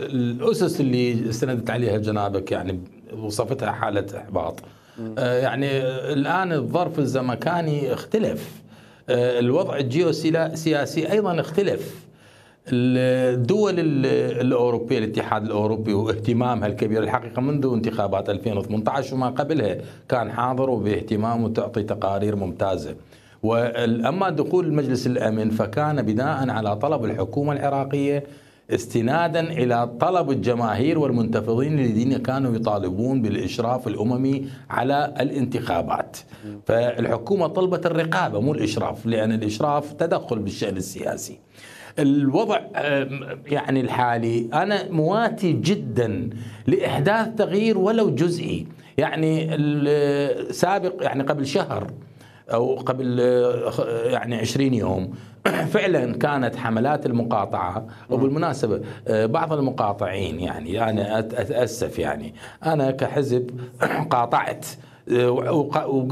الأسس اللي استندت عليها جنابك يعني وصفتها حالة إحباط. يعني الآن الظرف الزمكاني اختلف، الوضع الجيوسياسي أيضا اختلف. الدول الأوروبية، الاتحاد الأوروبي واهتمامها الكبير الحقيقة منذ انتخابات 2018 وما قبلها كان حاضر وباهتمام وتعطي تقارير ممتازة. وأما دخول مجلس الأمن فكان بناء على طلب الحكومة العراقية استنادا إلى طلب الجماهير والمنتفضين الذين كانوا يطالبون بالإشراف الأممي على الانتخابات. فالحكومة طلبت الرقابة مو الإشراف، لأن الإشراف تدخل بالشأن السياسي. الوضع يعني الحالي أنا مواتي جدا لإحداث تغيير ولو جزئي. يعني السابق يعني قبل شهر أو قبل يعني 20 يوم فعلا كانت حملات المقاطعة. وبالمناسبة بعض المقاطعين يعني أنا أتأسف، يعني أنا كحزب قاطعت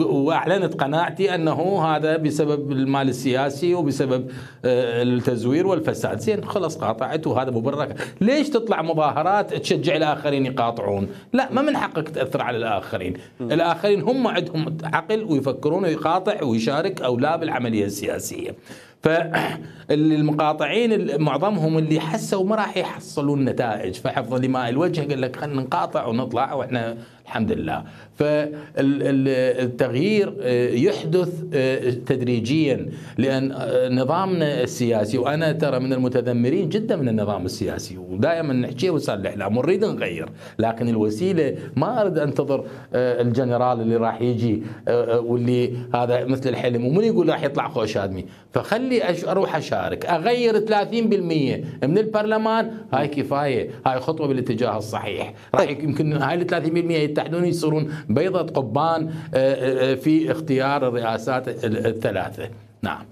وأعلنت قناعتي أنه هذا بسبب المال السياسي وبسبب التزوير والفساد. زين خلص قاطعت وهذا مبرر. ليش تطلع مظاهرات تشجع الآخرين يقاطعون؟ لا، ما من حقك تأثر على الآخرين. الآخرين هم عندهم عقل ويفكرون ويقاطع ويشارك أو لا بالعملية السياسية. فالمقاطعين معظمهم اللي حسوا ما راح يحصلون نتائج، فحفظ لماء الوجه قال لك خلينا نقاطع ونطلع واحنا الحمد لله. فالتغيير يحدث تدريجيا، لأن نظامنا السياسي، وأنا ترى من المتذمرين جدا من النظام السياسي ودائما نحكي وسائل الإعلام ونريد نغير، لكن الوسيلة ما أريد أنتظر الجنرال اللي راح يجي واللي هذا مثل الحلم ومن يقول راح يطلع خوش آدمي، فخلي أروح أشارك أغير 30% من البرلمان. هاي كفاية، هاي خطوة بالاتجاه الصحيح. راح يمكن هاي ال 30% يتحدون يصيرون بيضة قضبان في اختيار الرئاسات الثلاثة. نعم.